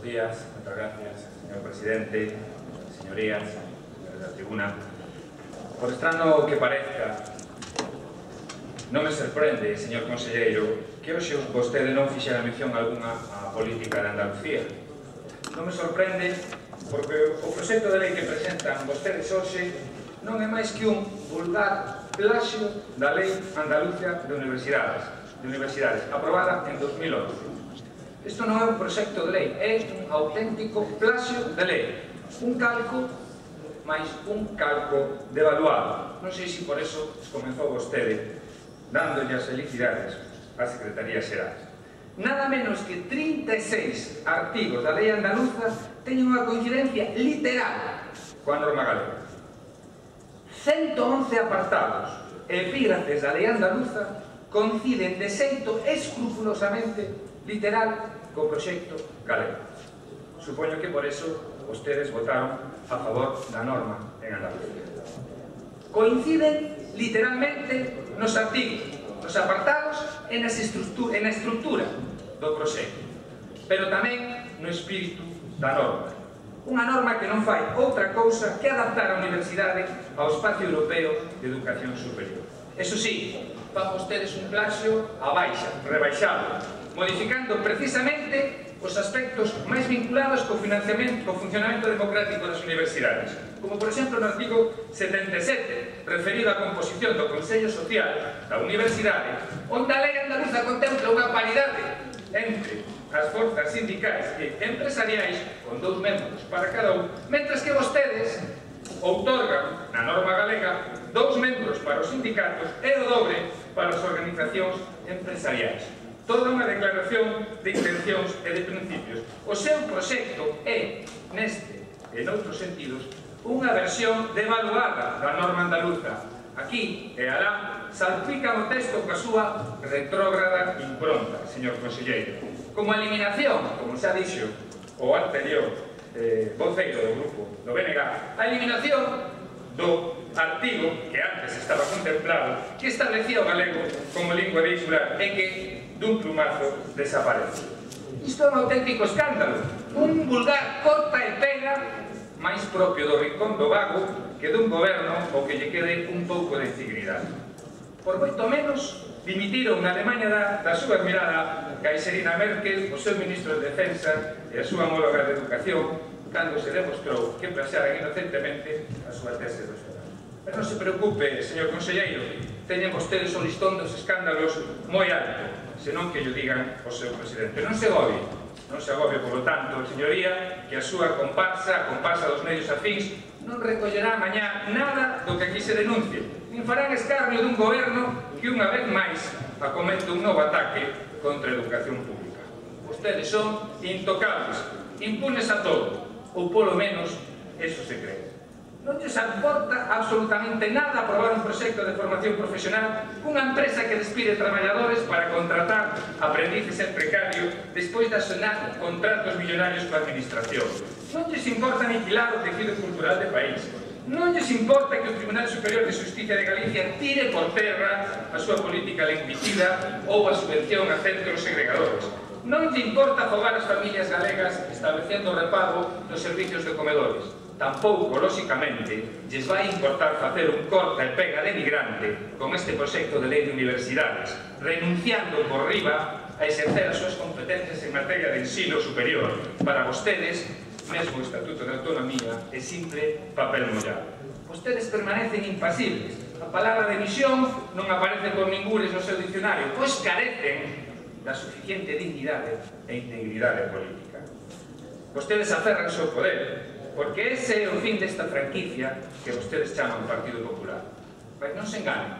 días. Muchas gracias, señor presidente, señorías, señores da tribuna. Por extraño que parezca, non me sorprende, señor conselleiro, que hoxe vostede non fixera mención algunha á política de Andalucía. Non me sorprende porque o proxecto de lei que presentan vostedes hoxe non é máis que un vulgar plaxio da Lei Andaluza de Universidades, aprobada en 2011. Isto non é un proxecto de lei, é un auténtico plaxio de lei. Un calco, máis un calco devaluado. Non sei se por eso comenzou vostede dándolle as felicidades á Secretaría Xeral. Nada menos que 36 artigos da lei andaluza teñen unha coincidencia literal coa norma galega. 111 apartados e epígrafes da lei andaluza coinciden de xeito escrupulosamente literal co proxecto galego. Supoño que por eso vostedes votaron a favor da norma en Andalucía. Coinciden literalmente nos artigos, nos apartados e na estructura do proxecto, pero tamén no espírito da norma. Unha norma que non fai outra cousa que adaptar a universidade ao espacio europeo de educación superior. Eso sí, fan vostedes un plaxio a baixa, rebaixado, modificando precisamente os aspectos máis vinculados co funcionamento democrático das universidades, como por exemplo no artigo 77, referido á composición do Consello Social da Universidade, onde a lei andaluza contempla unha paridade entre as forzas sindicais e empresariais con 2 membros para cada un, mentras que vostedes outorgan na norma galega 2 membros para os sindicatos e o dobre para as organizacións empresariais. Toda unha declaración de intencións e de principios. O seu proxecto é, neste e noutros sentidos, unha versión devaluada da norma andaluza. Aquí e alá salpican o texto coa súa retrógrada impronta, señor conselleiro. Como eliminación, como xa dixo o anterior voceiro do grupo do BNG, a eliminación do artigo que antes estaba contemplado que establecía o galego como lingua vehicular e que dun plumazo desaparece. Isto é un auténtico escándalo, un vulgar corta e pega máis propio do rincón do vago que dun goberno o que lle quede un pouco de integridade. Por moito menos dimitiron na Alemanha da súa admirada Caixerina Merkel, o seu ministro de Defensa e a súa homóloga de Educación cando se demostrou que plaxaran inocentemente a súa tese doctoral. Pero non se preocupe, señor conselleiro, teñen vostedes o listón dos escándalos moi alto, senón que llo digan o seu presidente. Non se agobie, polo tanto, señoría, que a súa comparsa, a comparsa dos medios afíns, non recollerá mañá nada do que aquí se denuncie, nin farán escarnio dun goberno que unha vez máis acomete un novo ataque contra a educación pública. Vostedes son intocables, impunes a todo, ou polo menos eso se cree. Non lles importa absolutamente nada aprobar un proxecto de formación profesional cunha empresa que despide traballadores para contratar aprendices en precario despois de asonar contratos millonarios coa administración. Non lles importa aniquilar o tejido cultural do país. Non lles importa que o Tribunal Superior de Xusticia de Galicia tire por terra a súa política lingüicida ou a subvención a centros segregadores. Non lle importa afogar as familias galegas establecendo o repago dos servicios de comedores. Tampouco, lóxicamente, lles vai importar facer un corta e pega de migrante con este proxecto de lei de universidades, renunciando por riba a exercer as súas competencias en materia de ensino superior. Para vostedes, mesmo o Estatuto de Autonomía é simple papel mollado. Vostedes permanecen impasibles. A palabra de misión non aparece por ningures no seu dicionario, pois carecen da suficiente dignidade e integridade política. Vostedes aferranse ao poder, porque ese é o fin desta franquicia que vostedes chaman Partido Popular. Mas non se enganen,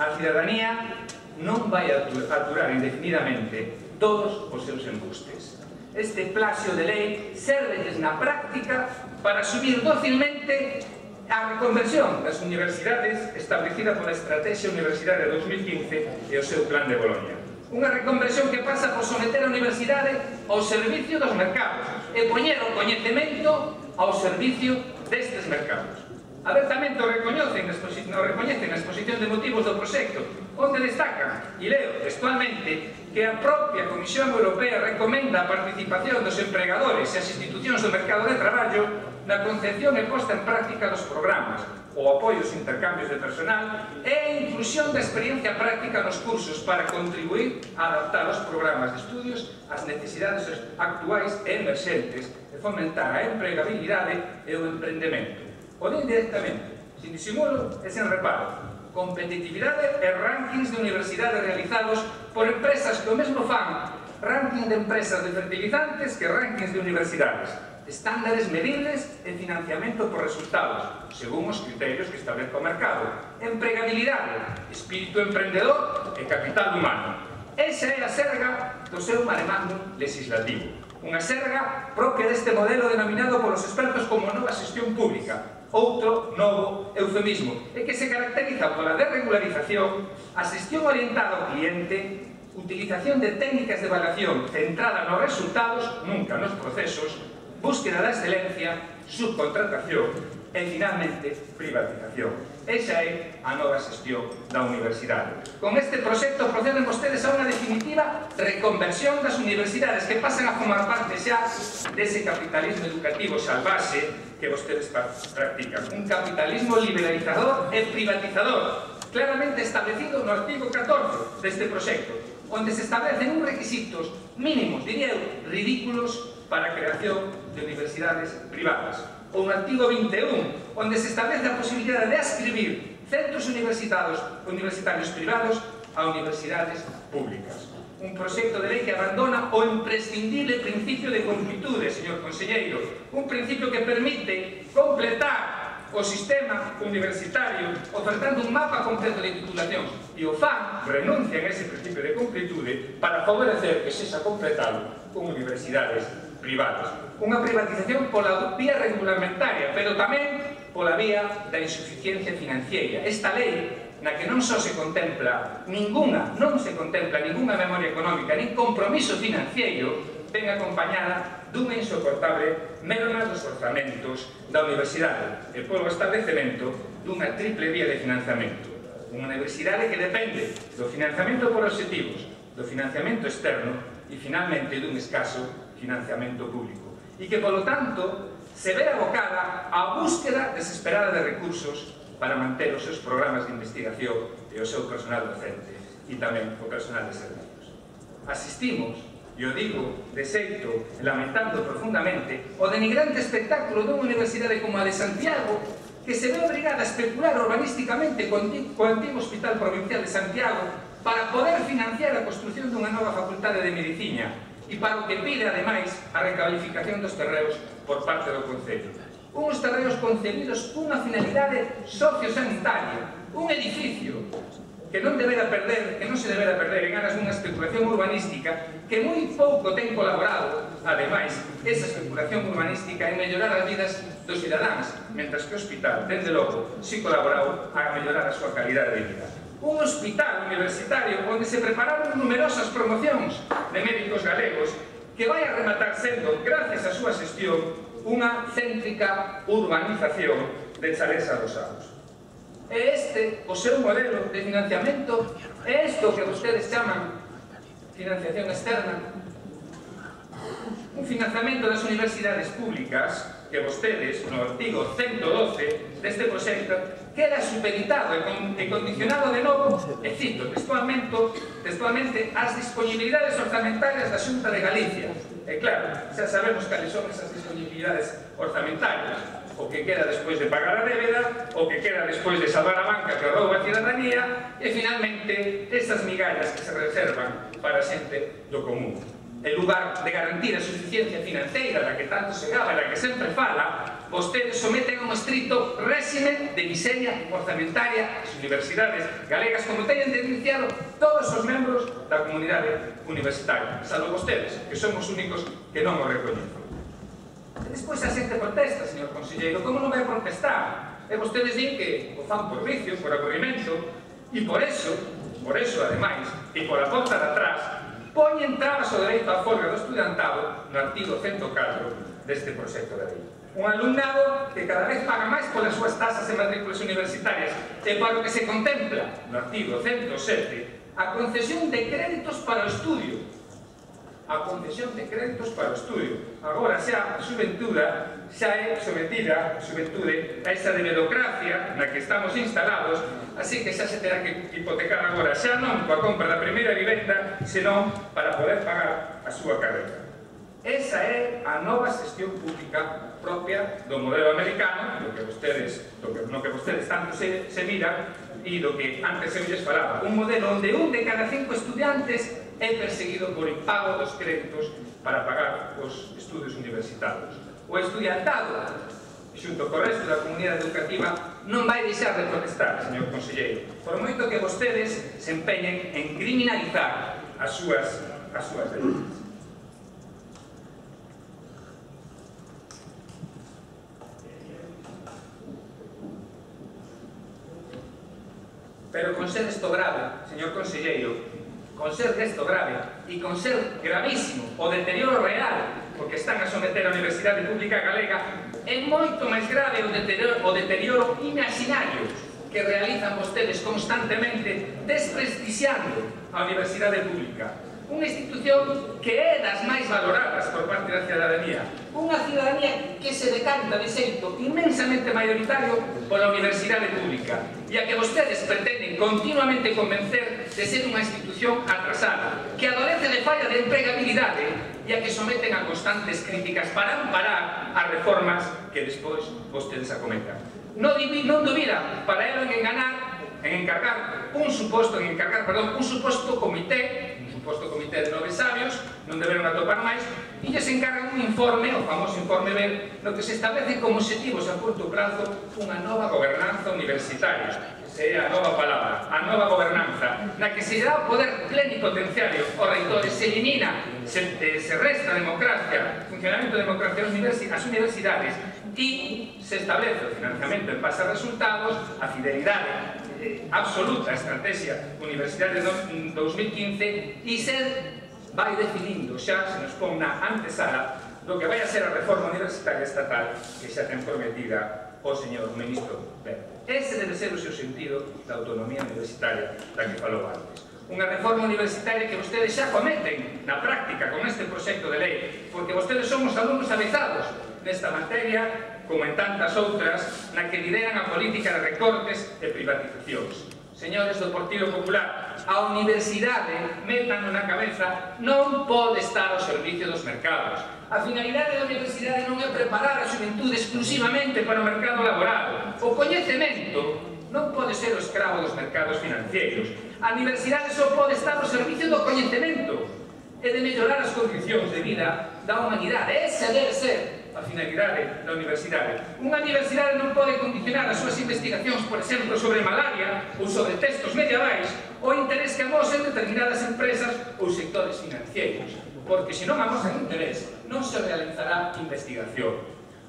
a cidadanía non vai aturar indefinidamente todos os seus embustes. Este plaxio de lei sérvelles na práctica para subir dócilmente a reconversión das universidades establecida pola Estrategia Universitaria 2015 e o seu Plan de Boloña. Unha reconversión que pasa por someter a universidade ao servicio dos mercados e poñer o coñecemento ao servicio destes mercados. Abertamente o recoñecen na exposición de motivos do proxecto, onde destacan, e leo textualmente, que a propia Comisión Europea recomenda a participación dos empregadores e as institucións do mercado de traballo na concepción e posta en práctica dos programas, o apoio aos intercambios de personal e a inclusión da experiencia práctica nos cursos para contribuir a adaptar os programas de estudios ás necesidades actuais e emerxentes e fomentar a empregabilidade e o emprendemento. O din directamente, sin disimulo e sen reparo. Competitividade e rankings de universidades realizados por empresas que o mesmo fan ranking de empresas de fertilizantes que rankings de universidades, estándares medibles e financiamento por resultados, según os criterios que establezca o mercado, empregabilidade, espírito emprendedor e capital humano. Esa é a serga do seu mare magnum legislativo, unha serga propia deste modelo denominado polos expertos como nova xestión pública, outro novo eufemismo, e que se caracteriza pola desregularización, a xestión orientada ao cliente, utilización de técnicas de evaluación centrada nos resultados, nunca nos procesos, búsqueda da excelencia, subcontratación e, finalmente, privatización. Esa é a nova xestión da universidade. Con este proxecto proceden vostedes a unha definitiva reconversión das universidades que pasan a formar parte xa dese capitalismo educativo salvaxe que vostedes practican. Un capitalismo liberalizador e privatizador, claramente establecido no artigo 14 deste proxecto, onde se establecen uns requisitos mínimos, diría eu, ridículos para a creación de universidades privadas. Ou no artigo 21, onde se establece a posibilidade de ascribir centros universitarios privados a universidades públicas. Un proxecto de lei que abandona o imprescindible principio de concretude, señor conselleiro, un principio que permite completar o sistema universitario ofertando un mapa completo de titulacións, e o FAN renuncia a ese principio de concretude para favorecer que sexa completado con universidades privadas. Unha privatización pola vía regulamentaria, pero tamén pola vía da insuficiencia financiera. Esta lei, na que non só se contempla ningunha memoria económica, nin compromiso financiero, ven acompañada dunha insoportable merma dos orzamentos da universidade e polo establecemento dunha triple vía de financiamento. Unha universidade que depende do financiamento por obxectivos, do financiamento externo e, finalmente, dun escaso financiamento público. E que, polo tanto, se ve abocada á búsqueda desesperada de recursos para manter os seus programas de investigación e o seu personal docente e tamén o personal de servicios. Asistimos, e o digo de xeito lamentando profundamente, o denigrante espectáculo dunha universidade como a de Santiago, que se ve obrigada a especular urbanísticamente co antigo Hospital Provincial de Santiago para poder financiar a construción dunha nova facultade de medicina e para o que pide, ademais, a recalificación dos terreos por parte do Concello. Uns terreos concebidos cunha finalidade sociosanitaria, un edificio que non se debera perder en aras dunha especulación urbanística que moi pouco ten colaborado, ademais, esa especulación urbanística en mellorar as vidas dos cidadáns, mentras que o hospital, dende logo, si colaborou a mellorar a súa calidade de vida. Un hospital universitario onde se prepararon numerosas promocións de médicos galegos que vai a rematar sendo, gracias á súa xestión, unha céntrica urbanización de chalés adosados. É este o seu modelo de financiamento? É isto que vostedes chaman financiación externa? Un financiamento das universidades públicas que vostedes, no artigo 112 deste proxecto, queda supeditado e condicionado de novo, e cito textualmente, as disponibilidades orzamentarias da Xunta de Galicia. E claro, xa sabemos cales son esas disponibilidades orzamentarias, o que queda despois de pagar a débeda, o que queda despois de salvar a banca que rouba a cidadanía, e finalmente esas migallas que se reservan para a xente do común. En lugar de garantir a suficiencia financeira da que tanto se gaba e da que sempre fala, vostedes someten a un estricto réxime de miseria orzamentaria as universidades galegas, como teñen denunciado todos os membros da comunidade universitaria, salvo vostedes, que son os únicos que non o recoñecen. Despois a xente protesta, señor conselleiro, como non vai protestar? E vostedes din que o fan por vicio, por aburrimento, e por eso, ademais, e por a porta de atrás, poñen trabas ao dereito á folga do estudantado no artigo 104 deste proxecto de lei. Un alumnado que cada vez paga máis polas súas tasas e matrículas universitarias e para o que se contempla no artigo 107 a concesión de créditos para o estudio. A concesión de créditos para o estudio. Agora xa a xuventude xa é sometida a esa debedocracia na que estamos instalados, así que xa se terá que hipotecar agora xa non coa compra da primeira vivenda, senón para poder pagar a súa carreira. Esa é a nova xestión pública propia do modelo americano, no que vostedes tanto se miran, e do que antes eu lles falaba. Un modelo onde 1 de cada 5 estudiantes é perseguido por impago dos créditos para pagar os estudios universitarios. O estudiantado, xunto co resto da comunidade educativa, non vai deixar de protestar, señor conselleiro, por moito que vostedes se empeñen en criminalizar as súas demandas. Pero con ser esto grave, señor conselleiro, con ser esto grave e con ser gravísimo o deterioro real porque están a someter a Universidade Pública Galega, é moito máis grave o deterioro imaginario que realizan vostedes constantemente desprestixiando a Universidade Pública, unha institución que é das máis valoradas por parte da cidadanía, unha cidadanía que se decanta de xeito inmensamente maioritario pola Universidade Pública e a que vostedes pretenden continuamente convencer de ser unha institución atrasada, que adolece de falla de empregabilidade e a que someten a constantes críticas para amparar as reformas que despois vostedes acometan. Non dubidan para elo en encargar un suposto comité de 9 sabios, non deberon atopar máis, e lles encargan un informe, o famoso informe BER, no que se establece como obxectivos a curto prazo unha nova gobernanza universitaria. Esa é a nova palabra, a nova gobernanza, na que se dá o poder plenipotenciario aos reitores, se elimina, se resta a democracia, funcionamento de democracia ás universidades, e se establece o financiamento en base a resultados, a fidelidade absoluta a estrategia Universidade 2015 e se vai definindo, xa se nos pon na antesala do que vai a ser a reforma universitaria estatal que xa ten prometida o señor ministro Wert. Ese debe ser o seu sentido da autonomía universitaria da que falou antes. Unha reforma universitaria que vostedes xa cometen na práctica con este proxecto de lei, porque vostedes son os alumnos avezados nesta materia, como en tantas outras, na que lideran a política de recortes e privatizacións. Señores do Partido Popular, a universidade, métanlo na cabeza, non pode estar ao servicio dos mercados. A finalidade da universidade non é preparar a xuventude exclusivamente para o mercado laboral. O coñecemento non pode ser o escravo dos mercados financeiros. A universidade só pode estar ao servicio do coñecemento e de mellorar as condicións de vida da humanidade. Esa debe ser a finalidade da universidade. Unha universidade non pode condicionar as súas investigacións, por exemplo, sobre malaria ou sobre textos medievais o interés que amosen determinadas empresas ou sectores financeiros, porque se non amosan interés non se realizará investigación.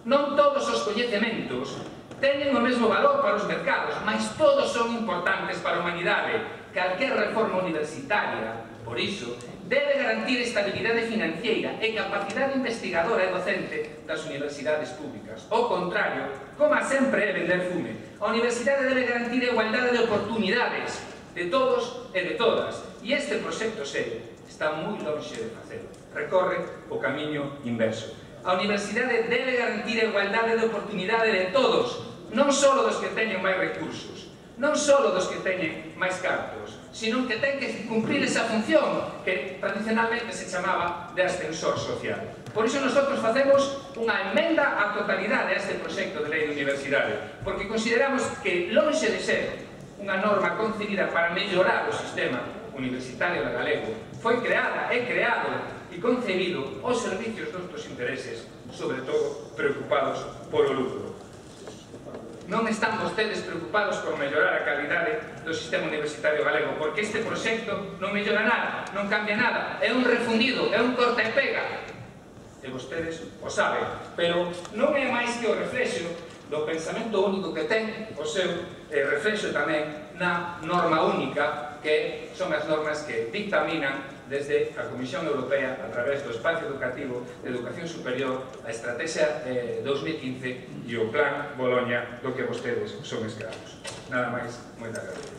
Non todos os coñecementos teñen o mesmo valor para os mercados, mas todos son importantes para a humanidade. Calquer reforma universitaria, por iso, debe garantir estabilidade financiera e capacidade investigadora e docente das universidades públicas. O contrario, como sempre é vender fume. A universidade debe garantir a igualdade de oportunidades de todos e de todas. E este proxecto serio está moi lonxe de facelo. Recorre o camiño inverso. A universidade debe garantir a igualdade de oportunidade de todos, non só dos que teñen máis recursos, non só dos que teñen máis cartos, sino que ten que cumprir esa función que tradicionalmente se chamaba de ascensor social. Por iso nosotros facemos unha emenda á totalidade a este proxecto de lei de universidade, porque consideramos que, lonxe de ser unha norma concebida para mellorar o sistema universitario da galego, foi creada, é creado e concebido aos servicios dos nossos intereses, sobre todo preocupados polo lucro. Non están vostedes preocupados por mellorar a calidade do sistema universitario galego, porque este proxecto non mellora nada, non cambia nada, é un refundido, é un corta e pega. E vostedes o saben, pero non é máis que o reflexo do pensamento único que ten o seu reflexo tamén na norma única, que son as normas que dictaminan desde a Comisión Europea a través do Espacio Educativo de Educación Superior, a Estrategia 2015 e o Plan Boloña, do que vostedes son escravos. Nada máis, moitas gracias.